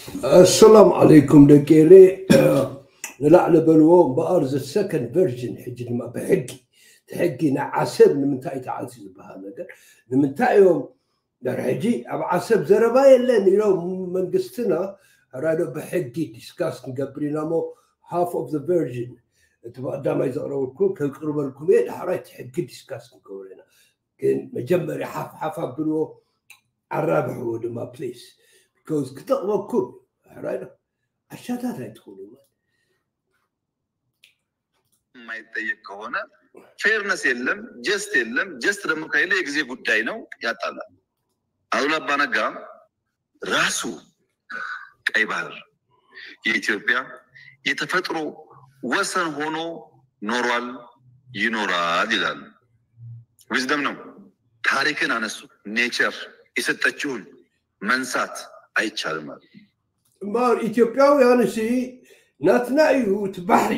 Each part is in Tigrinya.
ኣሰላም ዓለይኩም ደቂ ኤሬ። ንላዕሊ በልዎ እምበኣር፣ the second version፣ ሕጂ ድማ ብሕጊ፣ እቲ ሕጊ ናይ ዓሰብ ንምንታይ ተዓልቲ ዝበሃል ነገር ንምንታይ እዮም? ዳር ሕጂ ኣብ ዓሰብ ዘረባ የለን ኢሎም መንግስትና፣ ራዶ ብሕጊ ዲስካስ ክንገብር ኢና እሞ፣ half of the version፣ እቲ ብቐዳማይ ዘቕረብኩ ከቅርበልኩም እየ። ዳሕራይ እቲ ሕጊ ዲስካስ ክንገብር ኢና። ግን መጀመርያ ሓፍ ሓፍ ኣብልዎ፣ ኣራብሕዎ ድማ ፕሊስ፣ ቢኮዝ ክጠቕመኩም። ሕራይ ዶ? ኣሻታት ኣይትኹኑ። የማይጠየቅ ከሆነ ፌርነስ የለም፣ ጀስት የለም። ጀስት ደግሞ ከሌለ የጊዜ ጉዳይ ነው፣ ያጣላል። አሉላ አባነጋ ራሱ ቀይ ባህር የኢትዮጵያ የተፈጥሮ ወሰን ሆኖ ኖሯል፣ ይኖራል ይላሉ። ዊዝደም ነው። ታሪክን አነሱ። ኔቸር የሰጠችውን መንሳት አይቻልም አሉ። እምበኣር ኢትዮጵያውያን እሲ ናትና እዩ እቲ ባሕሪ፣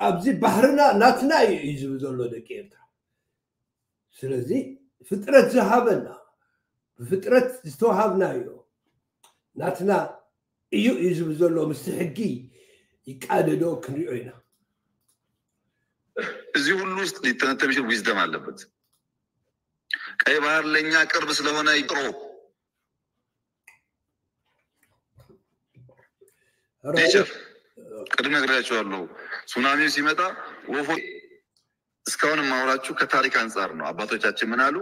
ኣብዚ ባሕርና ናትና እዩ እዩ ዝብል ዘሎ ደቂ ኤርትራ። ስለዚ ፍጥረት ዝሃበና፣ ብፍጥረት ዝተዋሃብናዮ ናትና እዩ እዩ ዝብል ዘሎ ምስቲ ሕጊ ይቃደዶ ክንሪኦ ኢና። እዚህ ሁሉ ውስጥ ሊተነተን የሚችል ዊዝደም አለበት። ቀይ ባህር ለእኛ ቅርብ ስለሆነ ይጥሮ ኔቸር ቅድም ነግሬያቸዋለሁ። ሱናሚው ሲመጣ ወፎ እስካሁን የማወራችሁ ከታሪክ አንጻር ነው። አባቶቻችን ምን አሉ፣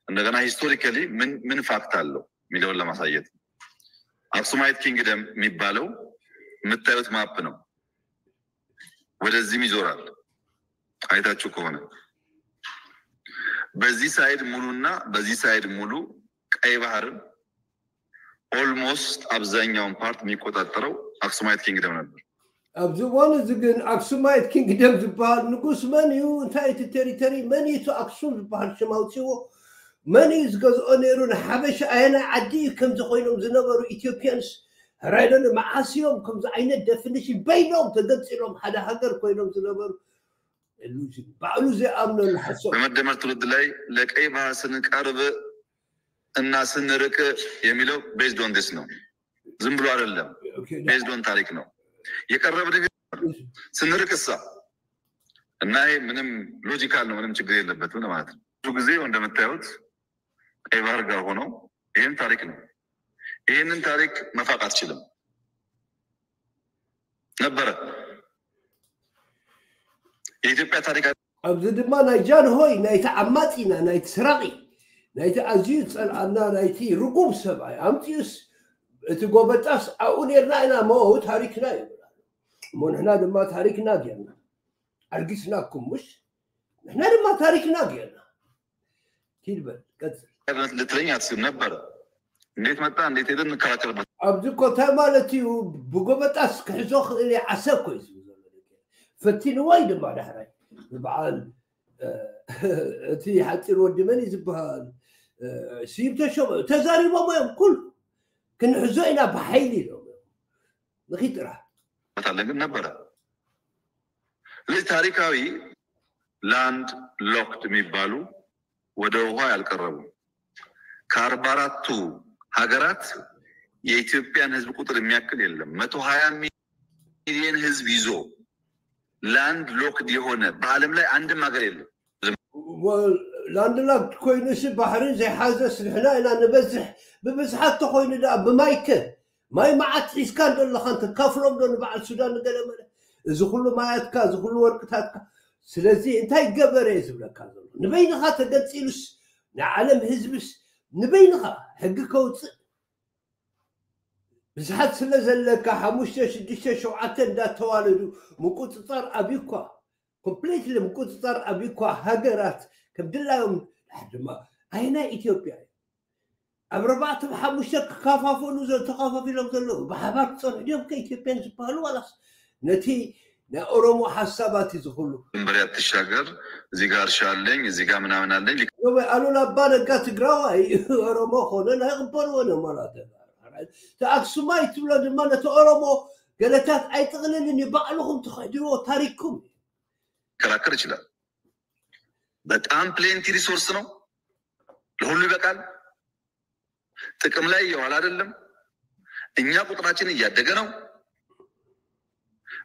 እንደገና ሂስቶሪካሊ ምን ምን ፋክት አለው የሚለውን ለማሳየት ነው። አክሱማይት ኪንግደም የሚባለው የምታዩት ማፕ ነው። ወደዚህም ይዞራል። አይታችሁ ከሆነ በዚህ ሳይድ ሙሉና በዚህ ሳይድ ሙሉ ቀይ ባህርን ኦልሞስት አብዛኛውን ፓርት የሚቆጣጠረው አክሱማይት ኪንግደም ነበር። ኣብዚ እዋን እዚ ግን ኣክሱማይት ኪንግደም ዝበሃል ንጉስ መን እዩ? እንታይ እቲ ቴሪተሪ መን እዩ? እቲ ኣክሱም ዝበሃል ሽም ኣውፅዎ መን እዩ ዝገዝኦ ነይሩ? ንሓበሻ ኣየናይ ዓዲ እዩ ከምዚ ኮይኖም ዝነበሩ ኢትዮጵያንስ? ሕራይ ዶ? መዓስ እዮም ከምዚ ዓይነት ደፊኒሽን በይኖም ተገንፂሎም ሓደ ሃገር ኮይኖም ዝነበሩ? ኢሉዥን። ባዕሉ ዘይኣምነሉ ሓሶት። በመደመር ትውልድ ላይ ለቀይ ባህር ስንቀርብ እና ስንርቅ የሚለው ቤዝድ ኦን ዲስ ነው። ዝም ብሎ አይደለም፣ ኦኬ፣ ቤዝድ ኦን ታሪክ ነው። የቀረብን ግን ስንርቅ እሳ እና ይሄ ምንም ሎጂካል ነው፣ ምንም ችግር የለበትም ለማለት ነው። ብዙ ጊዜ እንደምታዩት ቀይ ባህር ጋር ሆነው ይህም ታሪክ ነው። ይህንን ታሪክ መፋቅ አትችልም ነበረ። የኢትዮጵያ ታሪክ ኣብዚ ድማ ናይ ጃንሆይ ናይቲ ዓማፂና ናይቲ ስራቂ ናይቲ ኣዝዩ ዝፀልኣና ናይቲ ርጉም ሰብኣይ ኣምፂኡስ እቲ ጎበጣስ ኣብኡ ነርና ኢና እሞ ታሪክና ይብል ኣሎ። እሞ ንሕና ድማ ታሪክና ጌርና ኣርጊስናኩም ምሽ ንሕና ድማ ታሪክና ጌርና ኪድ በል ቀፅል። ልትለኝ አትችልም ነበረ። እንዴት መጣ እንዴት ሄደ እንከራከርበት። ኣብዚ እኮ እንታይ ማለት እዩ? ብጎበጣስ ክሕዞ ክእል እየ ዓሰብ ኮ እዩ ዝብል ዘሎ ደቂ። ፈቲንዎ እዩ ድማ ዳሕራይ ብበዓል እ፣ እቲ ሓፂር ወዲ መን እዩ ዝበሃል? እ፣ ስዩም ተሾመ ተዛሪቦም እዮም ኩሉ ክንሕዞ ኢና ብሓይሊ ኢሎም እዮም። ንኺድ ጥራሕ አለ ግን ነበረ። ስለዚህ ታሪካዊ ላንድ ሎክድ የሚባሉ ወደ ውሃ ያልቀረቡ ከአርባ አራቱ ሀገራት የኢትዮጵያን ህዝብ ቁጥር የሚያክል የለም። መቶ ሀያ ሚሊዮን ህዝብ ይዞ ላንድ ሎክድ የሆነ በዓለም ላይ አንድም ሀገር የለም። ላንድ ላክድ ኮይኑሲ ባሕሪ ዘይሓዘስ ንሕና ኢና ንበዝሕ። ብብዝሓት ተኮይኑ ደኣ ብማይከ ማይ መዓት ሒዝካ እንደለኻን ተካፍሎም ዶ ንበዓል ሱዳን ንገለ መለ? እዚ ኩሉ ማያትካ እዚ ኩሉ ወርቅታትካ። ስለዚ እንታይ ገበረ እየ ዝብለካ ዘሎ። ንበይንኻ ተገንፂሉስ ንዓለም ህዝብስ ንበይንኻ ሕጊ ከውፅእ ብዝሓት ስለ ዘለካ ሓሙሽተ ሽዱሽተ ሸውዓተ እንዳተዋለዱ ምቁፅፃር ኣብዩኳ ኮምፕሊትሊ ምቁፅፃር ኣብዩኳ ሃገራት ከም ድላዮም ድሓር ድማ ኣይናይ ኢትዮጵያ እዩ ኣብ ኣርባዕተ ብሓሙሽተ ክከፋፈሉ ተኸፋፊሎም ዘለዉ ብሓባር ክፀንሑ ድዮም ከኢትዮጵያን ዝበሃሉ ዋላስ ነቲ ናይ ኦሮሞ ሓሳባት እዩ ዝኽሉ ድንበር ያትሻገር እዚህ ጋር እርሻ አለኝ እዚህ ጋር ምናምን አለኝ ዮበ ኣሉላ ኣባ ነጋ ትግራዋይ ኦሮሞ ኮነ ናይ ቅበልዎ ነው ማለት ተኣክሱማይ ትብሎ ድማ ነቲ ኦሮሞ ገለታት ኣይጥቕልልን እዩ ባዕልኹም ትኽሕድዎ ታሪክኩም ሊከራከር ይችላል። በጣም ፕሌንቲ ሪሶርስ ነው፣ ለሁሉ ይበቃል። ጥቅም ላይ እየዋለ አይደለም። እኛ ቁጥራችን እያደገ ነው።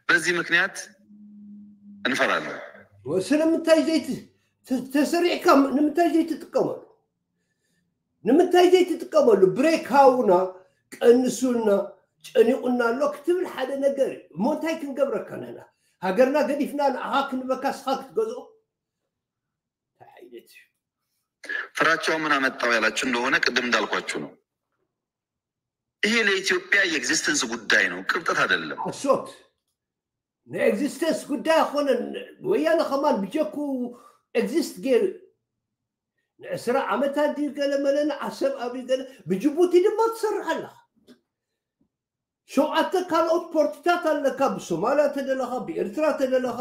በዚህ ምክንያት እንፈራለን። ስለምንታይ ዘይት ተሰሪዕካ ንምንታይ ዘይትጥቀመሉ? ንምንታይ ዘይትጥቀመሉ? ብሬክ ሃውና፣ ቀንሱልና፣ ጨኒቑና ኣሎ ክትብል ሓደ ነገር እዩ። እሞ እንታይ ክንገብረካ ንሕና? ሃገርና ገዲፍና ንዓኻ ክንበካ ስኻ ክትገዝኦ? እንታይ ዓይነት እዩ? ፍራቻው ምን አመጣው ያላችሁ እንደሆነ ቅድም እንዳልኳችሁ ነው። ይሄ ለኢትዮጵያ የኤግዚስተንስ ጉዳይ ነው፣ ቅብጠት አይደለም። ሓሶት ናይ ኤግዚስተንስ ጉዳይ ኣይኮነን። ወያነ ከማን ብጀኩ ኤግዚስት ገይሩ ንዕስራ ዓመታት ድዩ ገለ መለ ንዓሰብ ኣብዩ ገለ ብጅቡቲ ድማ ትሰርሕ ኣለኻ። ሸውዓተ ካልኦት ፖርትታት ኣለካ። ብሶማልያ ተደለኻ፣ ብኤርትራ ተደለኻ፣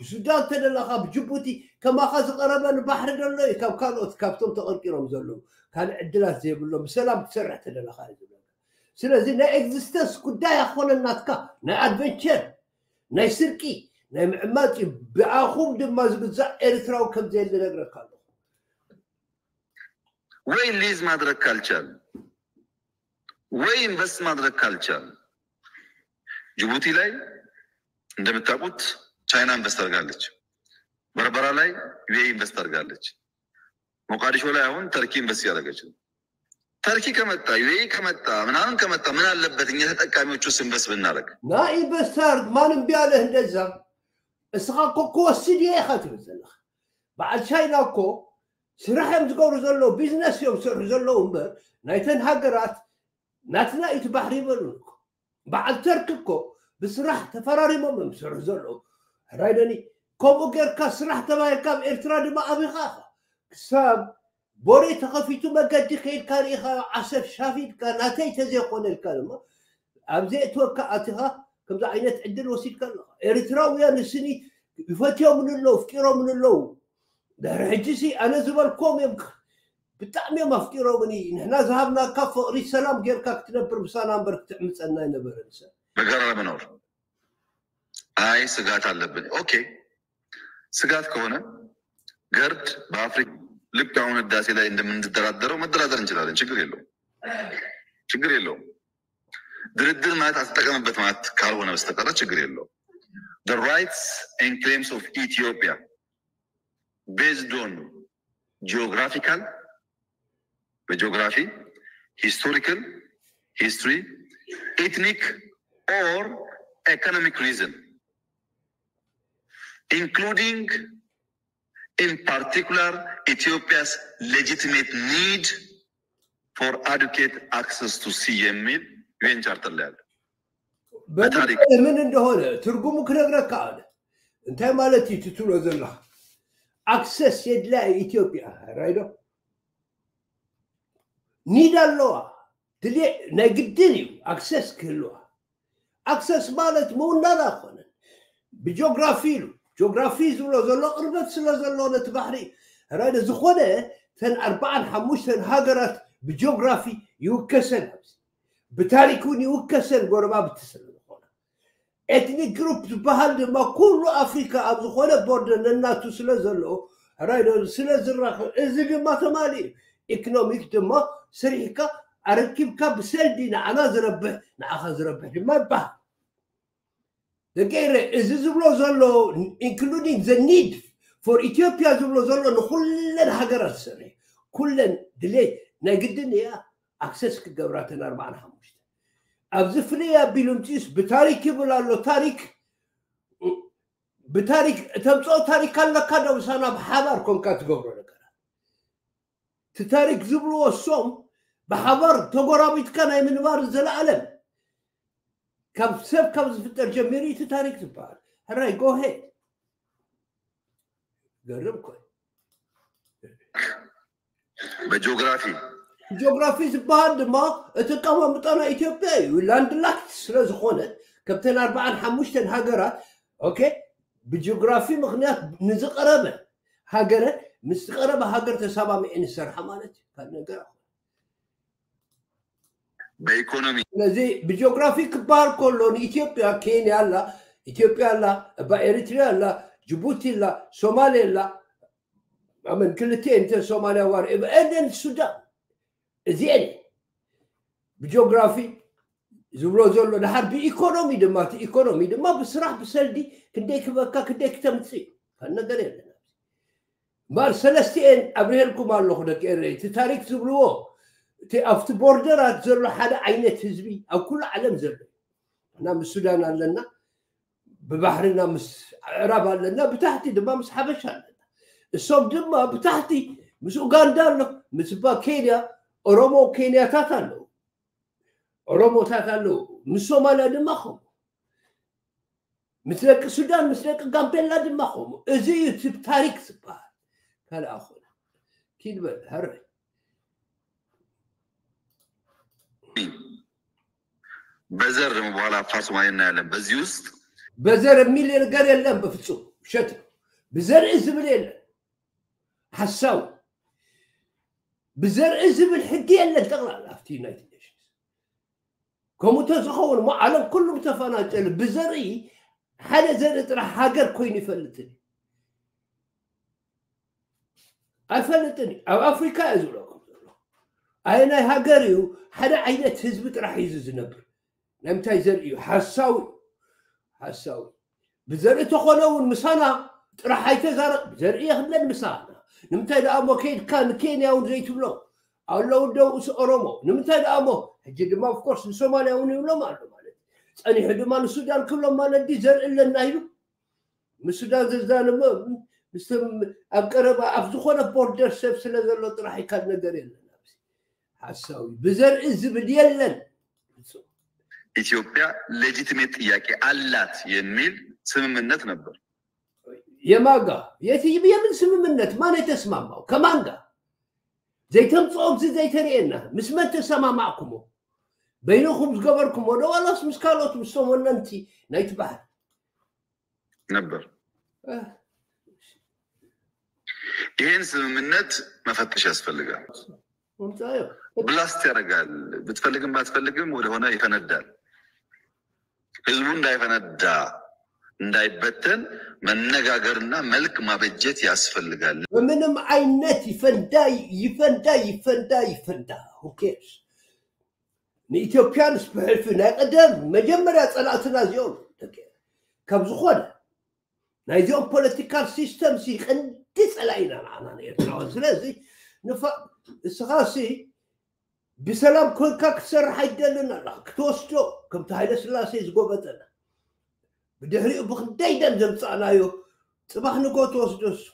ብሱዳን ተደለኻ፣ ብጅቡቲ ከማኻ ዝቐረበ ንባሕሪ ደሎ እዩ። ካብ ካልኦት ካብቶም ተቐርቂሮም ዘለዉ ካልእ ዕድላት ዘይብሎም ብሰላም ትሰርሕ ተደለኻ እዩ ዝብለካ። ስለዚ ናይ ኤግዚስተንስ ጉዳይ ኣኾነ ናትካ ናይ ኣድቨንቸር ናይ ስርቂ ናይ ምዕማፅ እዩ። ብኣኹም ድማ ዝግዛእ ኤርትራዊ ከም ዘየለ ነግረካ ኣለኹ። ወይ ሊዝ ማድረግ ካልቻል ወይ ኢንቨስት ማድረግ ካልቻል ጅቡቲ ላይ እንደምታውቁት ቻይና ኢንቨስት አድርጋለች። በርበራ ላይ ዩኤኢ ኢንቨስት አድርጋለች። ሞቃዲሾ ላይ አሁን ተርኪ ኢንቨስት እያደረገች ነው። ተርኪ ከመጣ ዩኤኢ ከመጣ ምናምን ከመጣ ምን አለበት እኛ ተጠቃሚዎች ውስጥ ኢንቨስት ብናደርግ? ናይ ኢንቨስተር ማን እምቢ ኣለ? እንደዛ እስኻ እኮ ክወስድ እየ ኢኻ ትብል ዘለኻ። በዓል ቻይና እኮ ስራሕ እዮም ዝገብሩ ዘለዉ፣ ቢዝነስ እዮም ዝሰርሑ ዘለዉ እምበር ናይተን ሃገራት ናትና እዩ እቲ ባሕሪ ይበሉን እኮ። በዓል ተርኪ እኮ ብስራሕ ተፈራሪሞም እዮም ዝሰርሑ ዘለዉ። ሕራይ ደኒ ከምኡ ጌርካ ስራሕ ተባሂልካ ኣብ ኤርትራ ድማ ኣቢኻ ኢኻ። ክሳብ ቦሬ ተኸፊቱ መገዲ ከይድካ ርኢኻ ዓሰብ ሻፊድካ ናተይ ተዘይኮነ ኢልካ ድማ ኣብ ዘእትወካ ኣቲኻ ከምዚ ዓይነት ዕድል ወሲድካ ኣለኻ። ኤርትራውያን ንስኒ ይፈትዮምን ኣለዉ፣ ኣፍቂሮምን ኣለዉ። ድሕሪ ሕጂ ሲ ኣነ ዝበልኮም እዮም ብጣዕሚ እዮም ኣፍቂሮምኒ። ንሕና ዝሃብናካ ፍቕሪ ሰላም ጌርካ ክትነብር ምሳና እምበር ክትዕምፀና ኣይነበረን ሰብ። በጋራ ለመኖር አይ ስጋት አለብን። ኦኬ ስጋት ከሆነ ገርድ በአፍሪካ ልክ አሁን ህዳሴ ላይ እንደምንደራደረው መደራደር እንችላለን። ችግር የለውም፣ ችግር የለውም። ድርድር ማለት አትጠቀምበት ማለት ካልሆነ በስተቀር ችግር የለውም። The rights and claims of Ethiopia based on geographical በጂኦግራፊ፣ historical, history, ethnic or economic reason, including in particular Ethiopia's legitimate need for adequate access to sea የሚል ዩኤን ቻርተር ላይ አለ። በታሪክ ምን እንደሆነ ትርጉሙ ክነግረካ ኣለ። እንታይ ማለት እዩ ትትብሎ ዘለኻ? ኣክሰስ የድልያ ኢትዮጵያ ራይዶ ኒድ ኣለዋ። ድሌ ናይ ግድን እዩ ኣክሰስ ክህልዋ። ኣክሰስ ማለት ምውናን ኣይኮነን። ብጂኦግራፊ ኢሉ ጂኦግራፊ ዝብሎ ዘሎ ቅርበት ስለ ዘሎ ነቲ ባሕሪ ራይዶ ዝኾነ ተን ኣርባዓን ሓሙሽተን ሃገራት ብጂኦግራፊ ይውከሰን ኣብዚ ብታሪክ እውን ይውከሰን ጎረባብቲ ስለ ዝኾነ ኤትኒክ ግሩፕ ዝበሃል ድማ ኩሉ ኣፍሪካ ኣብ ዝኾነ ቦርደር ነናቱ ስለ ዘሎ ራይዶ ስለ ዝራኸብ እዚ ድማ ተማሊ እዩ። ኢኮኖሚክ ድማ ስሪሕካ ኣረኪብካ ብሰልዲ ንዓና ዝረብሕ ንዓኻ ዝረብሕ ድማ ይበሃል። ደቂ ኤረ እዚ ዝብሎ ዘሎ including the need for ኢትዮጵያ ዝብሎ ዘሎ ንኩለን ሃገራት ዝሰርሕ ኩለን ድሌት ናይ ግድን እያ ኣክሰስ ክገብራ ተን ኣርባዓን ሓሙሽተ ኣብዚ ፍልይ ኣቢሉ ምፅኡስ ብታሪክ ይብል ኣሎ። ታሪክ ብታሪክ ተምፅኦ ታሪክ ኣለካ ዶ ምሳና ብሓባር ኮንካ ትገብሮ ነገራት እቲ ታሪክ ዝብልዎ እሶም ብሓባር ተጎራቢትካ ናይ ምንባር ዘለኣለም ካብ ሰብ ካብ ዝፍጠር ጀሚሩ እቲ ታሪክ ዝበሃል ሕራይ ጎሄ ገርም ኮ በጂኦግራፊ ጂኦግራፊ ዝበሃል ድማ እቲ ቀማምጣና ኢትዮጵያ እዩ። ላንድ ላክት ስለ ዝኾነ ከምተን ኣርባዓን ሓሙሽተን ሃገራት ኦኬ ብጂኦግራፊ ምክንያት ንዝቀረበ ሃገረ ምስ ዝቀረበ ሃገር ተሰማሚዐ ንሰርሓ ማለት እዩ። ካልእ ነገር ኣይኮነን። በኢኮኖሚ ስለዚ ብጂኦግራፊ ክበሃል ከሎ ንኢትዮጵያ ኬንያ ኣላ፣ ኢትዮጵያ ኣላ፣ እባ ኤሪትሪያ ኣላ፣ ጅቡቲ ኣላ፣ ሶማሌ ኣላ። ኣመን ክልቲኤን እተን ሶማልያ ዋር ኤንደን ሱዳን እዚኤን ብጂኦግራፊ ዝብሎ ዘሎ ድሓር ብኢኮኖሚ ድማ፣ እቲ ኢኮኖሚ ድማ ብስራሕ ብሰልዲ ክንደይ ክበካ ክንደይ ክተምፅእ እዩ። ካልእ ነገር የለን። እምበኣር ሰለስቲኤን ኣብርሄልኩም ኣለኹ ደቂ ኤረይ። እቲ ታሪክ ዝብልዎ፣ እቲ ኣብቲ ቦርደራት ዘሎ ሓደ ዓይነት ህዝቢ ኣብ ኩሉ ዓለም ዘሎ፣ እና ምስ ሱዳን ኣለና፣ ብባሕርና ምስ ኣዕራብ ኣለና፣ ብታሕቲ ድማ ምስ ሓበሻ ኣለና። እሶም ድማ ብታሕቲ ምስ ኡጋንዳ ኣሎ፣ ምስ ባ ኬንያ፣ ኦሮሞ ኬንያታት ኣለዉ፣ ኦሮሞታት ኣለዉ፣ ምስ ሶማልያ ድማ ከምኡ፣ ምስ ደቂ ሱዳን፣ ምስ ደቂ ጋምቤላ ድማ ከምኡ። እዚ እዩ እቲ ታሪክ ዝበሃል። ካልእ ኣኾነ። ኪድ በል፣ ሕረይ። በዘር ደግሞ በኋላ አፋር ሶማሌ እናያለን። በዚህ ውስጥ በዘር የሚል ነገር የለም በፍጹም። ውሸት ነው። ብዘርኢ ዝብል የለን። ሓሳዊ። ብዘርኢ ዝብል ሕጊ የለን ጠቕላላ ኣብቲ ዩናይትድ ኔሽንስ። ከምኡ ተዝኸውን እሞ ዓለም ኩሉ ምተፈናጨለ። ብዘርኢ ሓደ ዘርኢ ጥራሕ ሃገር ኮይኑ ይፈልጥን እዩ። ኣይፈልጥን እዩ። ኣብ ኣፍሪካ እየ ዝብለኩም ዘሎ። ኣየናይ ሃገር እዩ ሓደ ዓይነት ህዝቢ ጥራሕ እዩ ዝነብር? ናይ ምንታይ ዘርኢ እዩ? ሓሳዊ እዩ። ሓሳዊ። ብዘርኢ ተኾነ እውን ምሳና ጥራሕ ኣይተዛረብ። ብዘርኢ የኽለን ምሳና። ንምንታይ ደኣ እሞ ከይድካ ንኬንያ እውን ዘይትብሎ? ኣለዉ ደው እሱ ኦሮሞ። ንምንታይ ደኣ እሞ? ሕጂ ድማ ኦፍኮርስ ንሶማልያ እውን ይብሎም ኣሎ ማለት እዩ። ጸኒሑ ድማ ንሱዳን ክብሎም ማለት ድዩ ዘርኢ ኣለና ኢሉ? ምስ ሱዳን ዘዛንሞ፣ ምስቶም ኣብ ቀረባ ኣብ ዝኾነ ቦርደር ሰብ ስለ ዘሎ ጥራሕ እዩ። ካልእ ነገር የለን። ኣብዚ ሓሳዊ ብዘርኢ ዝብል የለን። ኢትዮጵያ ሌጂቲሜት ጥያቄ አላት የሚል ስምምነት ነበር። የማን ጋ? የት-፣ የምን ስምምነት? ማን የተስማማው? ከማን ጋር? ዘይተምጽኦ፣ እዚ ዘይተርእየና። ምስ መን ተሰማማዕኩሞ? በይንኹም ዝገበርኩሞ ዶ ዋላስ ምስ ካልኦት፣ ምስቶም ወነንቲ ናይቲ ባሕሪ? ነበር። ይህን ስምምነት መፈተሽ ያስፈልጋል። ምምጻዮ። ብላስት ያደርጋል። ብትፈልግም ባትፈልግም ወደሆነ ይፈነዳል። ህዝቡ እንዳይፈነዳ፣ እንዳይበተን መነጋገርና መልክ ማበጀት ያስፈልጋል። በምንም ዓይነት ይፈንዳ፣ ይፈንዳ፣ ይፈንዳ፣ ይፈንዳ፣ who cares? ንኢትዮጵያን ስብሕልፊ ናይ ቀደም መጀመርያ ጸላእትና እዚኦም ደቂ፣ ካብ ዝኾነ ናይዚኦም ፖለቲካል ሲስተም ሲ ቀንዲ ጸላኢና ንዓና ንኤርትራውያን። ስለዚ ንፋ-፣ እስኻ ሲ ብሰላም ኮንካ ክትሰርሕ ኣይደልን ኣለኻ። ክትወስዶ ከምቲ ሃይለ ስላሴ ዝጎበጠና፣ ብድሕሪኡ ብክንደይ ደም ዘምጻእናዮ ጽባሕ ንጎ ትወስዶ እሱ።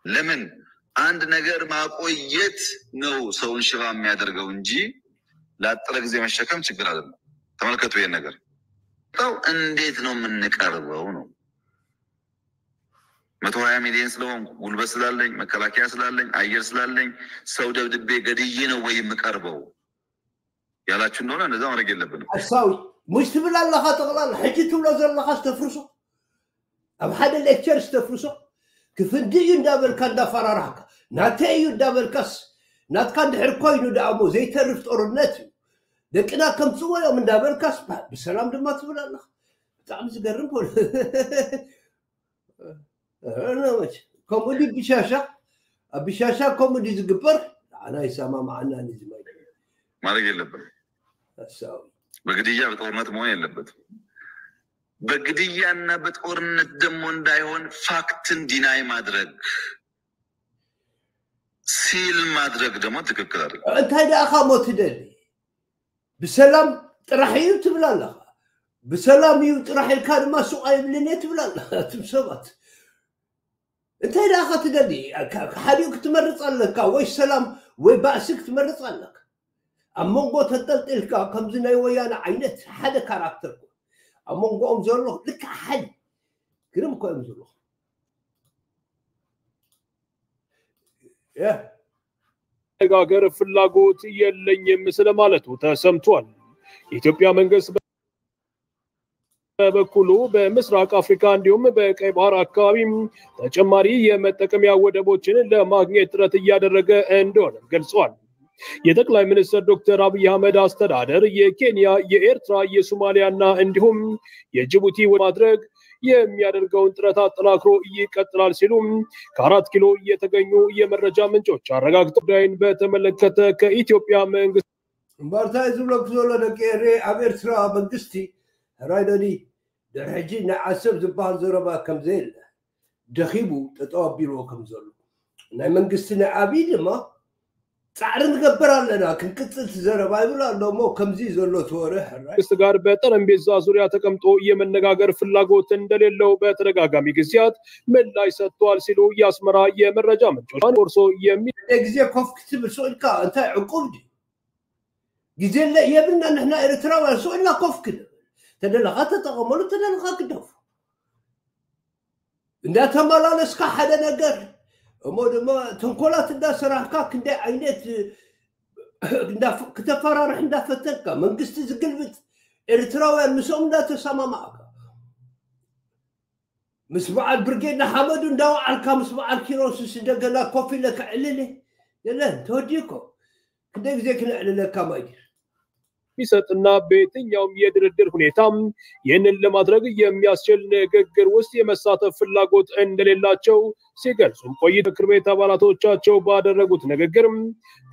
ለምን አንድ ነገር ማቆየት ነው ሰውን ሽባ የሚያደርገው እንጂ ላጠረ ጊዜ መሸከም ችግር አይደለም። ተመልከቱ ይሄን ነገር። ሰው እንዴት ነው የምንቀርበው ነው። መቶ ሀያ ሚሊዮን ስለሆንኩ፣ ጉልበት ስላለኝ፣ መከላከያ ስላለኝ፣ አየር ስላለኝ ሰው ደብድቤ ገድዬ ነው ወይ የምቀርበው ያላችሁ እንደሆነ እንደዛ ማድረግ የለብንም። ሓሳዊ ሙሽ ትብል ኣለኻ። ጠቕላላ ሕጂ ትብሎ ዘለኻስ ተፍርሶ፣ ኣብ ሓደ ሌክቸርስ ተፍርሶ። ክፍንዲ እዩ እንዳበልካ እንዳፈራራሕካ፣ ናተይ እዩ እንዳበልካስ፣ ናትካ እንድሕር ኮይኑ ደኣ እሞ ዘይተርፍ ጦርነት እዩ። ደቅና ከምጽዎ እዮም እንዳበልካስ ብ-፣ ብሰላም ድማ ትብል ኣለኻ። ብጣዕሚ ዝገርም ፖለ-፣ እ፣ ከምኡ ድዩ ብሻሻ? ኣብ ብሻሻ ከምኡ ድዩ ዝግበር? ንዓና ይሰማማዓና ንዚ ማይ ማድረግ የለብንም። ሓሳዊ። በግድያ በጦርነት መሆን የለበትም። በግድያና በጦርነት ደግሞ እንዳይሆን ፋክትን ዲናይ ማድረግ፣ ሲል ማድረግ ደግሞ ትክክል አይደለም። እንታይ ደኣ ሞ ትደሊ? ብሰላም ጥራሕ እዩ ትብል ኣለኻ። ብሰላም እዩ ጥራሕ ኢልካ ድማ ሱቕ ኣይብልን እየ ትብል ኣለኻ። እትም ሰባት እንታይ ደኣ ትደሊ? ካ-፣ ሓዲኡ ክትመርጽ ኣለካ፣ ወይ ሰላም ወይ ባእሲ ክትመርጽ ኣለካ። ኣብ መንጎ ተንጠልጢልካ ከምዚ ናይ ወያነ ዓይነት ሓደ ካራክተር ኮን። ኣብ መንጎኦም ዘሎ ልክዕ ሓደ ግርም እኮ እዮም ዘለዉ። ያ መነጋገር ፍላጎት የለኝም ስለማለቱ ተሰምቷል። የኢትዮጵያ መንግስት በበኩሉ በምስራቅ አፍሪካ እንዲሁም በቀይ ባህር አካባቢ ተጨማሪ የመጠቀሚያ ወደቦችን ለማግኘት ጥረት እያደረገ እንደሆነ ገልጸዋል። የጠቅላይ ሚኒስትር ዶክተር አብይ አህመድ አስተዳደር የኬንያ፣ የኤርትራ፣ የሶማሊያና እንዲሁም የጅቡቲ ወደብ ማድረግ የሚያደርገውን ጥረት አጠናክሮ ይቀጥላል ሲሉ ከአራት ኪሎ የተገኙ የመረጃ ምንጮች አረጋግጠው። ጉዳይን በተመለከተ ከኢትዮጵያ መንግስት እምበርታ እዩ ዝብለኩ ዘሎ ደቂ ኤሬ ኣብ ኤርትራ መንግስቲ ሕራይ ደኒ ድሕሪ ሕጂ ናይ ዓሰብ ዝበሃል ዘረባ ከም ዘየለ ደኺቡ ጠጠው ኣቢልዎ ከም ዘሎ ናይ መንግስቲ ናይ ኣብይ ድማ ጻዕሪ ንገብር ኣለና ክንቅጽል ትዘረባ ይብል ኣሎ እሞ ከምዚ ዘሎ ተወረ ሕራይ መንግስት ጋር በጠረጴዛ ዙሪያ ተቀምጦ የመነጋገር ፍላጎት እንደሌለው በተደጋጋሚ ጊዜያት ምላሽ ሰጥቷል ሲሉ የአስመራ የመረጃ ምንጮች ፎርሶ የሚ ግዜ ኮፍ ክትብል ስቕ ኢልካ እንታይ ዕቁብ ድዩ ግዜ የብልና ንሕና ኤርትራውያን ስቕ ኢልና ኮፍ ክንብል ተደለኻ ተጠቐመሉ ተደለኻ ግደፉ እንዳተመላለስካ ሓደ ነገር እሞ ድማ ተንኮላት እንዳሰራሕካ ክንደይ ዓይነት ክተፈራርሕ እንዳፈተንካ መንግስቲ ዝግልብጥ ኤርትራውያን ምስኦም እንዳተሰማማዕካ ምስ በዓል ብርጌድ ንሓመዱ እንዳወዓልካ ምስ በዓል ኪሮስስ እንደገና ኮፍ ኢለ ክዕልል የለን ተወዲእኮ ክንደይ ግዜ ክነዕልለካ ማይዲር የሚሰጥና በየትኛውም የድርድር ሁኔታ ይህንን ለማድረግ የሚያስችል ንግግር ውስጥ የመሳተፍ ፍላጎት እንደሌላቸው ሲገልጹም ቆይተው ምክር ቤት አባላቶቻቸው ባደረጉት ንግግር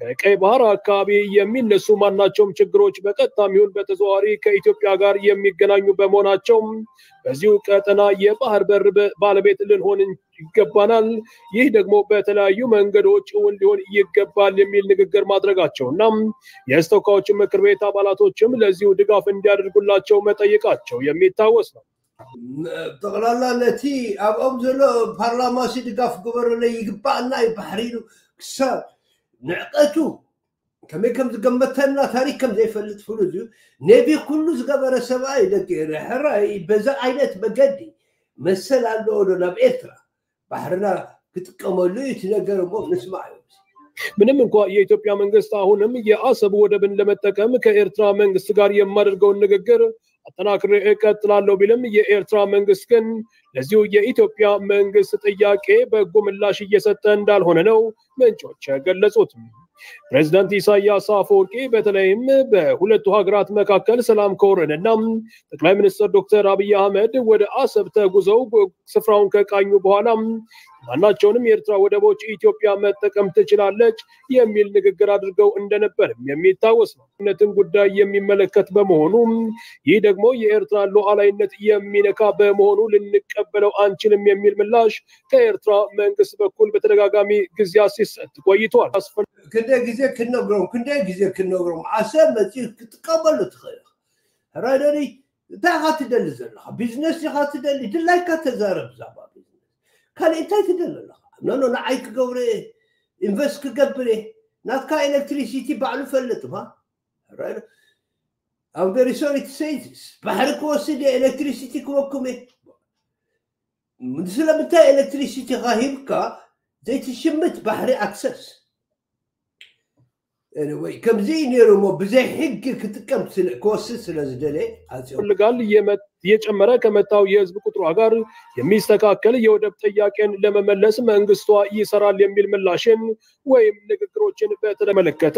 ከቀይ ባህር አካባቢ የሚነሱ ማናቸውም ችግሮች በቀጥታም ይሁን በተዘዋዋሪ ከኢትዮጵያ ጋር የሚገናኙ በመሆናቸው በዚሁ ቀጠና የባህር በር ባለቤት ልንሆን ይገባናል። ይህ ደግሞ በተለያዩ መንገዶች እውን ሊሆን ይገባል የሚል ንግግር ማድረጋቸውና የአስቸኳዮች ምክር ቤት አባላቶችም ለዚሁ ድጋፍ እንዲያደርጉላቸው መጠየቃቸው የሚታወስ ነው። ጠቕላላ ነቲ ኣብኦም ዘሎ ፓርላማ ሲ ድጋፍ ግበረለይ ይግባኣና እዩ ባሕሪ ኢሉ ክሳብ ንዕቀቱ ከመይ ከም ዝገመተና ታሪክ ከም ዘይፈልጥ ፍሉጥ እዩ። ኔቪ ኩሉ ዝገበረ ሰብኣይ ደቂ ኤረ ሕራይ በዚ ዓይነት መገዲ መሰል ኣለዎ ዶ ናብ ኤርትራ ባሕርና ክጥቀመሉ እዩ እቲ ነገር እሞ ንስማዕ እዩ። ምንም እንኳ የኢትዮጵያ መንግስት አሁንም የአሰብ ወደብን ለመጠቀም ከኤርትራ መንግስት ጋር የማደርገውን ንግግር አጠናክሬ እቀጥላለሁ ቢልም የኤርትራ መንግስት ግን ለዚሁ የኢትዮጵያ መንግስት ጥያቄ በጎ ምላሽ እየሰጠ እንዳልሆነ ነው ምንጮች የገለጹት። ፕሬዚዳንት ኢሳያስ አፈወርቂ በተለይም በሁለቱ ሀገራት መካከል ሰላም ከወረደና ጠቅላይ ሚኒስትር ዶክተር አብይ አህመድ ወደ አሰብ ተጉዘው ስፍራውን ከቃኙ በኋላ ማናቸውንም የኤርትራ ወደቦች ኢትዮጵያ መጠቀም ትችላለች የሚል ንግግር አድርገው እንደነበርም የሚታወስ ነው። ነትን ጉዳይ የሚመለከት በመሆኑ ይህ ደግሞ የኤርትራን ሉዓላዊነት የሚነካ በመሆኑ ልንቀበለው አንችልም የሚል ምላሽ ከኤርትራ መንግስት በኩል በተደጋጋሚ ጊዜያት ሲሰጥ ቆይቷል። ክንደይ ግዜ ክንነግሮም ክንደይ ግዜ ክንነግሮም ዓሰብ መፂኡ ክትቀበሉ ትኽእል ሕራይ ደኒ እንታይ ኢኻ ትደሊ ዘለኻ ቢዝነስ ኢኻ ትደሊ ድላይካ ተዛረብ ዛባ ቢዝነስ ካልእ እንታይ ትደሊ ኣለኻ ኖኖ ንዓይ ክገብረ ኢንቨስት ክገብር እየ ናትካ ኤሌክትሪሲቲ ባዕሉ ፈልጥ ባ I'm very sorry to say this ባሕሪ ክወስድ እየ ኤሌክትሪሲቲ ክወኩም እየ ስለምንታይ ኤሌክትሪሲቲ ካ ሂብካ ዘይትሽምት ባሕሪ ኣክሰስ ወይ ከምዚ ነይሩ ሞ ብዘይ ሕጊ ክጥቀም ክወስድ ስለ ዝደለ ኣፅዮ ይፈልጋል። እየጨመረ ከመጣው የህዝብ ቁጥሯ ጋር የሚስተካከል የወደብ ጥያቄን ለመመለስ መንግስቷ ይሰራል የሚል ምላሽን ወይም ንግግሮችን በተመለከተ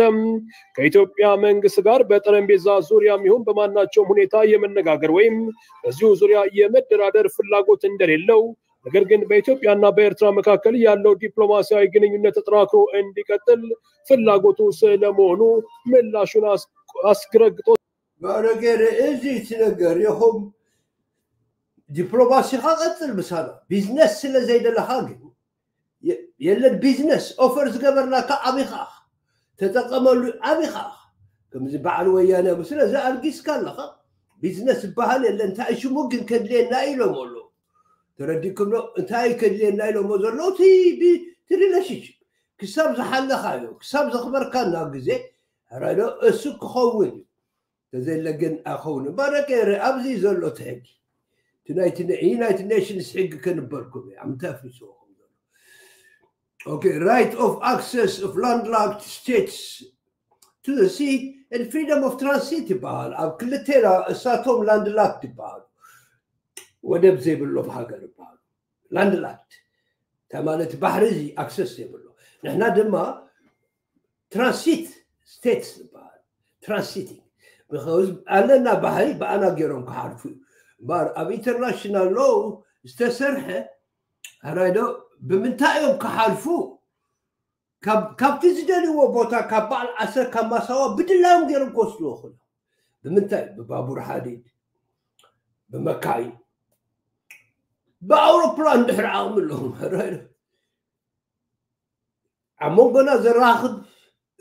ከኢትዮጵያ መንግስት ጋር በጠረጴዛ ዙሪያም ይሁን በማናቸውም ሁኔታ የመነጋገር ወይም በዚሁ ዙሪያ የመደራደር ፍላጎት እንደሌለው ነገር ግን በኢትዮጵያና በኤርትራ መካከል ያለው ዲፕሎማሲያዊ ግንኙነት ተጠናክሮ እንዲቀጥል ፍላጎቱ ስለመሆኑ ምላሹን አስረግጦ ባረገረ እዚ ትነገር ይኹም ዲፕሎማሲኻ ቀጽል ምሳና ቢዝነስ ስለ ዘይደለኻ ግን የለን ቢዝነስ ኦፈር ዝገበርናካ ዓብኻ ተጠቀመሉ ዓብኻ ከምዚ በዓል ወያነ ስለዚ ኣልጊስካ ኣለኻ ቢዝነስ ዝበሃል የለን እንታይ ሽሙ ግን ከድልየና ኢሎም ኣለዉ ተረዲኩም ዶ እንታይ ከድልየና ኢሎሞ ዘለዉ እቲ ሪሌሽንሽፕ ክሳብ ዝሓለኻዮ ክሳብ ዘኽበርካና ግዜ ረዶ እሱ ክኸውን እዩ ተዘለ ግን ኣይኸውን እምበረ ገይረ ኣብዚ ዘሎ እቲ ሕጊ እቲ ናይቲ ዩናይትድ ኔሽንስ ሕጊ ከንበርኩም እዩ ኣብ ምንታይ ኣፍሪስዎ ከም ዘሎ okay right of access of landlocked states to the sea and freedom of transit ይበሃል ኣብ ክልቴና እሳቶም ላንድላክድ ይበሃሉ ወደብ ዘይብሎም ሃገር ይበሃሉ ላንድላክድ እንታይ ማለት ባሕሪ እዚ ኣክሰስ ዘይብሎ ንሕና ድማ ትራንሲት ስቴትስ ዝበሃል ትራንሲቲንግ ኣለና ባህሪ ብኣና ገይሮም ክሓልፉ እዩ እምበኣር ኣብ ኢንተርናሽናል ሎው ዝተሰርሐ ሕራይዶ ብምንታይ እዮም ክሓልፉ ካብቲ ዝደልይዎ ቦታ ካብ በዓል ዓሰር ካብ ማሳዋ ብድላዮም ገይሮም ክወስድዎ ክእሉ። ብምንታይ? ብባቡር ሓዲድ፣ ብመካይን፣ ብኣውሮፕላን ድሕሪ ዓቕሚ ኣለዎም። ኣብ መንጎና ዘራኽብ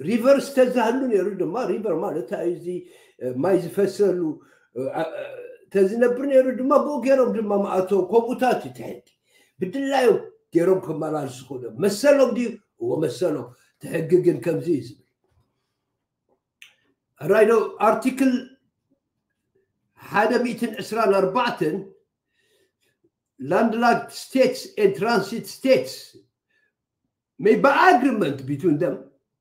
ሪቨር ዝተዛህሉ ነይሩ ድማ። ሪቨር ማለት እዚ ማይ ዝፈሰሉ ተዝነብር ነይሩ ድማ ብኡ ገይሮም ድማ መኣተው። ከምኡታት እዩ ትሕቲ ብድላዮም ገይሮም ክመላልሱ ክእሉ። መሰሎም ድዩ? እዎ መሰሎም። ትሕጊ ግን ከምዚ እዩ ዝብል። ራይዶ ኣርቲክል ሓደ ሚእትን ዕስራን ኣርባዕተን landlocked states and transit states may by agreement between them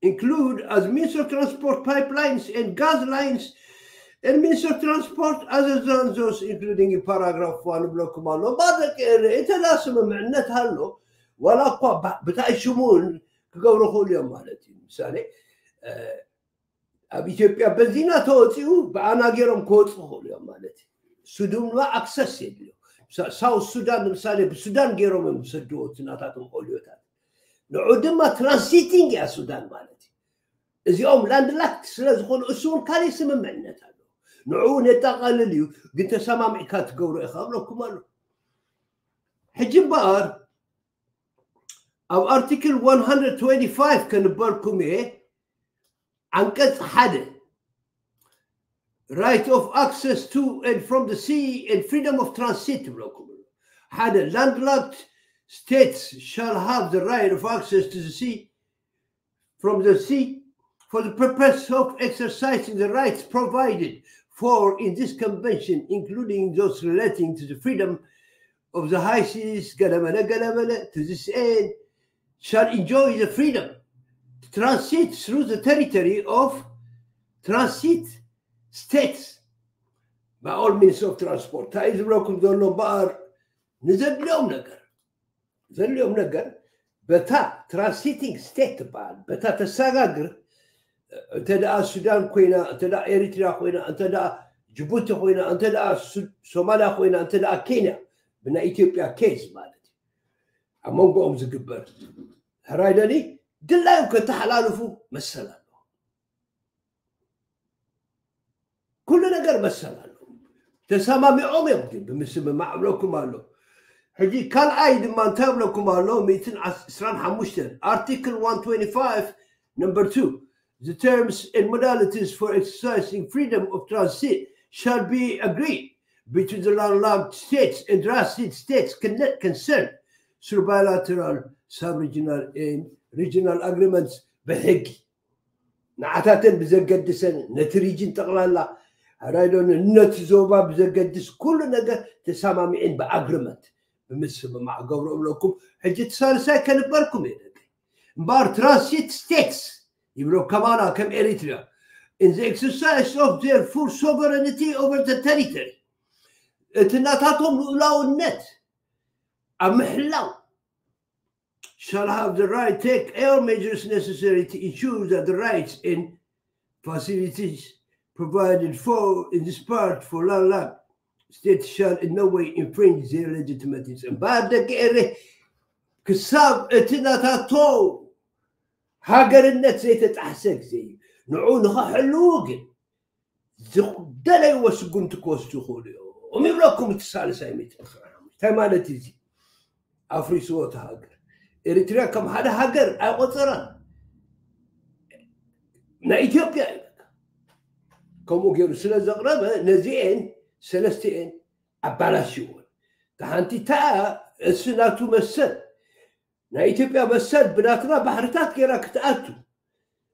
include as means of transport pipelines and gas lines and means of transport other than those including in paragraph one ብለኩም ኣሎ። ባደቂ እንተ ስምምዕነት ኣሎ ዋላ እኳ ብታይ ሽሙን ክገብሩ ክእሉ እዮም ማለት እዩ። ምሳሌ ኣብ ኢትዮጵያ በዚና ተወፂኡ ብኣና ገይሮም ክወፁ ክእሉ እዮም ማለት እዩ። ሱዱን ድማ ኣክሰስ የድልዮ። ሳውት ሱዳን ንምሳሌ ብሱዳን ገይሮም እዮም ዝሰድዎ እቲ ናታቶም ኦልዮታት። ንዑ ድማ ትራንሲቲንግ እያ ሱዳን ማለት እዩ። እዚኦም ላንድላክት ስለ ዝኾኑ እሱ እውን ካልእ ስምምዕነት ኣሎ። ንዑ እውን የጠቓልል እዩ፣ ግን ተሰማሚዕካ ትገብሮ ኢኻ እብለኩም ኣሎ። ሕጂ እምበኣር ኣብ ኣርቲክል ከንበርኩም እየ። ዓንቀጽ ሓደ right of access to and from the sea and freedom of transit ትብለኩም። ሓደ landlocked states shall have the right of access to the sea from the sea for the purpose of exercising the rights provided for in this convention, including those relating to the freedom of the high seas ገለመለ ገለመለ to this end shall enjoy the freedom to transit through the territory of transit states by all means of transport። እንታይ እዩ ዝብለኩም ዘሎ እምበኣር ንዘድልዮም ነገር ዘድልዮም ነገር በታ ትራንሲቲንግ ስቴት ትበሃል በታ ተሰጋግር እንተ ደኣ ሱዳን ኮይና እንተ ደኣ ኤሪትሪያ ኮይና እንተ ደኣ ጅቡቲ ኮይና እንተ ደኣ ሶማልያ ኮይና እንተ ደኣ ኬንያ ብናይ ኢትዮጵያ ኬዝ ማለት እዩ ኣብ መንጎኦም ዝግበር ሕራይ ደሊ ድላዮም ከተሓላልፉ መሰል ኣሎ። ኩሉ ነገር መሰል ኣሎ። ተሰማሚዖም እዮም ግን ብምስምማዕ እብለኩም ኣሎ። ሕጂ ካልኣይ ድማ እንታይ እብለኩም ኣሎ? ሚእትን ዕስራን ሓሙሽተን ኣርቲክል one twenty-five number two the terms and modalities for exercising freedom of transit shall be agreed between the landlocked states and transit states concerned through bilateral, sub-regional and regional agreements ብሕጊ ንዓታተን ብዘገድሰን ነቲ ሪጅን ጠቕላላ ራይዶ ነቲ ዞባ ብዘገድስ ኩሉ ነገር ተሰማሚዕን ብኣግሪመንት ብምስምማዕ ገብሮ እብለኩም። ሕጂ እቲ ሳልሳይ ከንበርኩም እየ ደቂ እምበኣር ትራንሲት ስቴትስ ይብሎ ከማና ከም ኤሪትሪያ in the exercise of their full sovereignty over the territory እቲ ናታቶም ልኡላውነት ኣብ ምሕላው shall have the right to take all measures necessary to ensure that the rights and facilities provided for in this part for landlocked states shall in no way infringe their legitimate rights እምበኣር ደቂ ኤረ ክሳብ እቲ ናታቶ ሃገርነት ዘይተጣሕሰ ግዜ እዩ። ንዑ ንኸሕልዉ ግን ዝደለይዎ ስጉምቲ ክወስዱ ይኽእሉ እዮም ይብለኩም እቲ ሳልሳይ ሚእቲ እንታይ ማለት እዩ እዚ ኣፍሪስዎ እቲ ሃገር ኤሪትሪያ ከም ሓደ ሃገር ኣይቆፀራን ናይ ኢትዮጵያ እዩ ከምኡ ገይሩ ስለ ዘቕረበ ነዚኤን ሰለስቲኤን ኣባላሽዎን ተሓንቲ እታ እሱ ናቱ መሰል ናይ ኢትዮጵያ መሰል ብናትና ባሕርታት ገይራ ክትኣቱ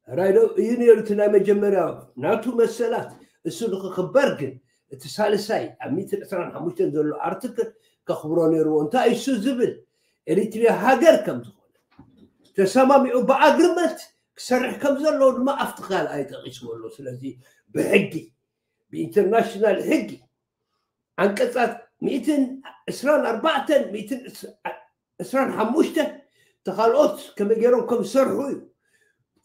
ራይዶ እዩ ነይሩ እቲ ናይ መጀመርያ ናቱ መሰላት እሱ ንክክበር ግን እቲ ሳልሳይ ኣብ ሚእትን ዕስራን ሓሙሽተን ዘሎ ኣርትክል ከኽብሮ ነይርዎ እንታይ እሱ ዝብል ኤሪትሪያ ሃገር ከም ዝኾነ ተሰማሚዑ ብኣግሪመንት ክሰርሕ ከም ዘለዎ ድማ ኣብቲ ካልኣይ ጠቂስዎ ኣሎ ስለዚ ብሕጊ ብኢንተርናሽናል ሕጊ ዓንቀፃት ሚእትን ዕስራን ኣርባዕተን ሚእትን ዕስራን ሓሙሽተን ተኻልኦት ከመይ ገይሮም ከም ዝሰርሑ እዩ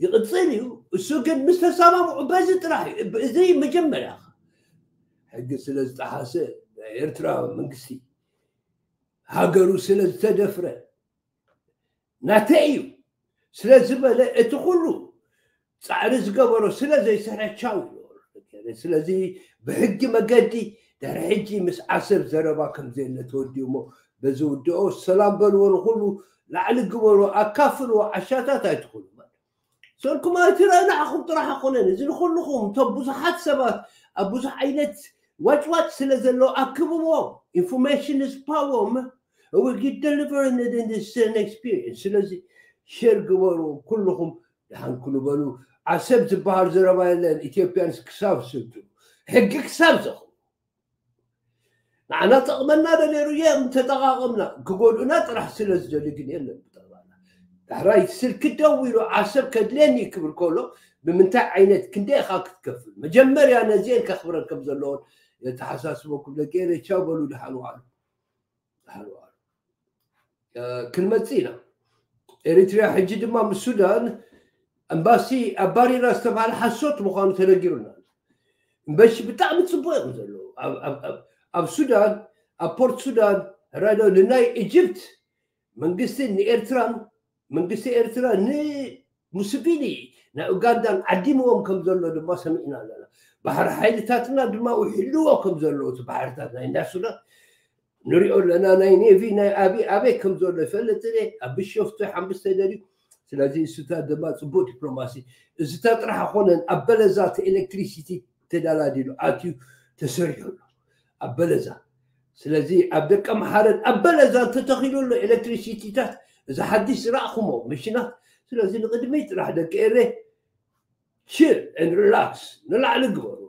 ይቕፅል እዩ እሱ ግን ምስ ተሰማምዑ በዚ ጥራሕ እዩ እዚ መጀመርያ ሕጊ ስለ ዝጠሓሰ ናይ ኤርትራ መንግስቲ ሃገሩ ስለ ዝተደፍረ ናተይ እዩ ስለ ዝበለ እቲ ኩሉ ፃዕሪ ዝገበሮ ስለ ዘይስሕቻው እዩ። ስለዚ ብሕጊ መገዲ ድሕሪ ሕጂ ምስ ዓሰብ ዘረባ ከም ዘየለ ተወዲኡ እሞ በዚ ውድኦ ሰላም በልዎ፣ ንኩሉ ላዕሊ ግበሩ፣ ኣካፍልዎ፣ ዓሻታት ኣይትኹኑ። ሰልኩም ኣይትረአ ንዓኹም ጥራሕ ኣይኮነን፣ እዚ ንኩልኹም እቶም ብዙሓት ሰባት ኣብ ብዙሕ ዓይነት ዋጭዋጭ ስለ ዘሎ ኣክብዎም። Information is power. We get deliver in this experience። ስለዚ ሸር ግበሩ ኩልኹም። ደሓን ኩሉ በሉ። ዓሰብ ዝበሃል ዘረባ የለን። ኢትዮጵያንስ ክሳብ ስልጡ ሕጊ ክሳብ ዘኹ ንዓና ጠቕመና ዶ ነይሩ? የም ተጠቓቐምና። ክጎድኡና ጥራሕ ስለ ዝደሊ ግን የለን። ብጠቕላላ ዳሕራይ ስልኪ ደው ኢሉ ዓሰብ ከድልየኒ ክብል ከሎ ብምንታይ ዓይነት ክንደይ ኢኻ ክትከፍል? መጀመርያ ነዚአን ከኽብረን ከም ዘለዎን የተሓሳስበኩም። ደቂ ኤረይ ቻው በሉ። ደሓን ዋሉ። ደሓን ዋሉ። ክንመጽእ ኢና። ኤሪትሪያ ሕጂ ድማ ምስ ሱዳን ኣምባሲ ኣባሪራ ዝተባሃለ ሓሶት ምዃኑ ተነጊሩና። እምበሺ ብጣዕሚ ጽቡቅ እዮም ዘለዉ ኣብ ሱዳን፣ ኣብ ፖርት ሱዳን። ራዶ ንናይ ኢጅፕት መንግስቲ ንኤርትራን መንግስቲ ኤርትራ ንሙስቪኒ ናይ ኡጋንዳን ዓዲምዎም ከም ዘሎ ድማ ሰሚዕና ኣለና። ባሕሪ ሓይልታትና ድማ ውሕልዎ ከም ዘለዎ እቲ ባሕርታት ናይ እንዳ ሱዳን ንሪኦ ኣለና። ናይ ኔቪ ናይ ኣቢ ኣበይ ከም ዘሎ ይፈልጥ እየ። ኣብ ቢሾፍቱ ሓምብስተ ደልዩ። ስለዚ እሱታት ድማ ጽቡቅ ዲፕሎማሲ። እዚታት ጥራሕ ኣይኮነን። ኣብ በለዛ እቲ ኤሌክትሪሲቲ ተዳላዲሉ ኣትዩ ተሰሪሑ ኣሎ ኣብ በለዛ። ስለዚ ኣብ ደቀ መሓረን ኣብ በለዛ እንተተኺሉ ኣሎ ኤሌክትሪሲቲታት፣ እዚ ሓድሽ ዝረእኹሞ መሽናት። ስለዚ ንቕድሚ ጥራሕ ደቂ ኤረ ችል ን ሪላክስ ንላዕሊ ግበሩ።